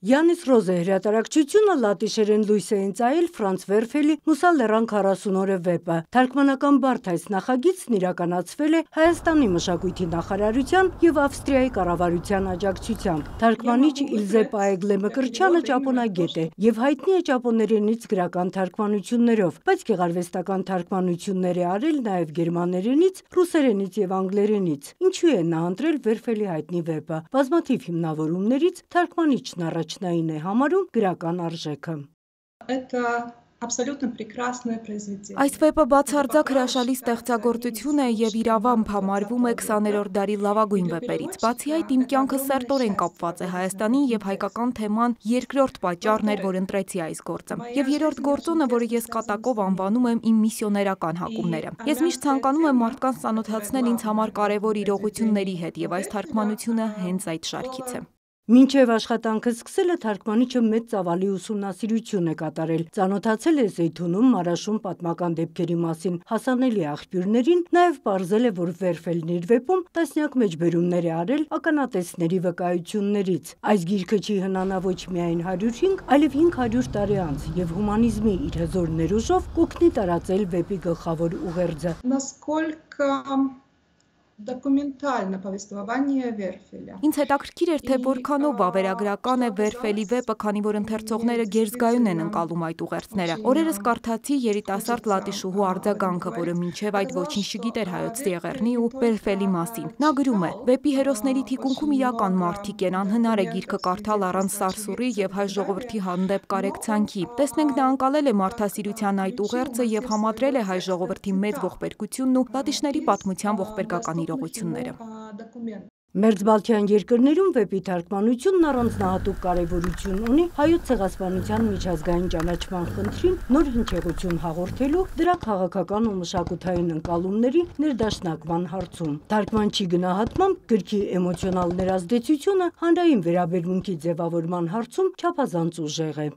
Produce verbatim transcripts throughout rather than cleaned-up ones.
Յանիս Ռոզե հրատարակչությունը լատիշերեն լույս է ընծայել Ֆրանց Վերֆելի «Մուսա լեռան քառասուն օրը» վեպը։ Թարգմանական բարդ այս նախագիծն իրականացվել է Հայաստանի մշակույթի նախարարության եւ Ավստրիայի կառավարության աջակցությամբ։ Թարգմանիչ Իլզե Պաեգլե Մկրտչյանը ճապոնագետ է եւ հայտնի է ճապոներենից գրական թարգմանություններով, բայց գեղարվեստական թարգմանություններ է արել նաեւ գերմաներենից, ռուսերենից եւ անգլերենից։ Ինչու է նա ընտրել Վերֆելի հայտնի վեպը։ Բազմաթիվ հիմնավորումներից թարգմանիչն առաջնային է համարում գրական արժեքը։ Այս վեպը բացարձակ հրաշալի ստեղծագործություն է եւ իրավամբ համարվում է քսաներորդ դարի լավագույն վեպերից։ Բացի այդ, իմ կյանքը սերտորեն կապված է Հայաստանին եւ հայկական թեման երկրորդ պատճառն էր, որ ընտրեցի այս գործը։ Եվ երրորդ գործոնը, որը ես կատակով անվանում եմ իմ միսիոներական հակումները։ Ես միշտ ցանկանում եմ մարդկանց ծանոթացնել ինձ համար կարևոր իրողությունների հետ եւ այս թարգմանությունը հենց այդ շարքից է։ Մինչև աշխատանքը սկսելը թարգմանիչը մեծ ծավալի ուսումնասիրություն է կատարել, ծանոթացել է Զեյթունում, Մարաշում պատմական դեպքերի մասին հասանելի աղբյուրներին, նաև պարզել է, որ Վերֆելն իր վեպում տասնյակ մեջբերումներ է արել ականատեսների վկայություններից։ Այս գիրքը չի հնանա ոչ միայն հարյուր հինգ, այլև հինգ հարյուր տարի անց եւ հումանիզմի իր հզոր ներուժով կօգնի տարածել վեպի գլխավոր ուղերձը։ Դոկումենտալնա повествование Վերֆելը։ Ինձ հետաքրքիր էր, թե որքանով վավերագրական է Վերֆելի վեպը, քանի որ ընթերցողները գերզգայուն են ընկալում այդ ուղերձները։ Օրերս կարդացի երիտասարդ լատիշուհու արձագանքը, որը մինչև այդ ոչինչ չգիտեր հայոց Սիեղեռնի ու Վերֆելի մասին։ Նա գրում է. «Վեպի հերոսների թիկունքում իրական մարդիկ են, անհնար է գիրքը կարդալ առանց սարսուռի եւ հայ ժողովրդի հանդեպ կարեկցանքի։ Տեսնենք նա անցալել է մարդասիրության այդ ուղերձը եւ համադրել է հայ ժողովրդի մեծ ողբերգությունն ու լատիշների պատմության ողբերգական իրողությունները»։ Մերձբալթյան երկրներում վեպի թարգմանությունն առանձնահատուկ կարևորություն ունի հայոց ցեղասպանության միջազգային ճանաչման խնդրին նոր հնչեղություն հաղորդելու, դրա քաղաքական ու մշակութային ընկալումների ներդաշնակման հարցում։ Թարգմանչի գնահատմամբ գրքի էմոցիոնալ ներազդեցությունը հանրային վերաբերմունքի ձևավորման հարցում չափազանց ուժեղ է։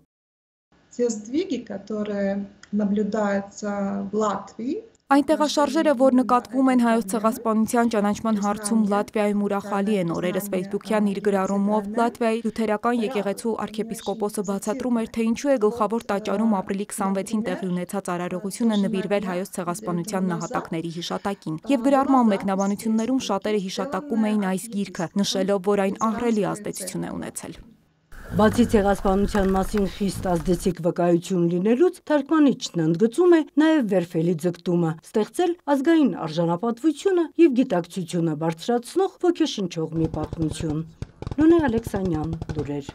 Այն տեղաշարժերը, որ նկատվում են հայոց ցեղասպանության ճանաչման հարցում Լատվիայում, ուրախալի են։ Օրերս ֆեյսբուքյան իր գրառումով Լատվիայի լյութերական եկեղեցու արքեպիսկոպոսը բացատրում էր, թե ինչու է գլխավոր տաճարում ապրիլի քսանվեցին տեղի ունեցած արարողությունը նվիրվել հայոց ցեղասպանության նահատակների հիշատակին։ Եվ գրառման մեկնաբանություններում շատերը հիշատակում էին այս գիրքը, նշելով, որ այն ահռելի ազդեցություն է ունեցել։ Բացի ցեղասպանության մասին խիստ ազդեցիկ վկայություն լինելուց, թարգմանիչն ընդգծում է նաև Վերֆելի ձգտումը ստեղծել ազգային արժանապատվությունը եւ գիտակցությունը բարձրացնող ոգեշնչող մի պատմություն։ Լունե Ալեքսանյան, լուրեր։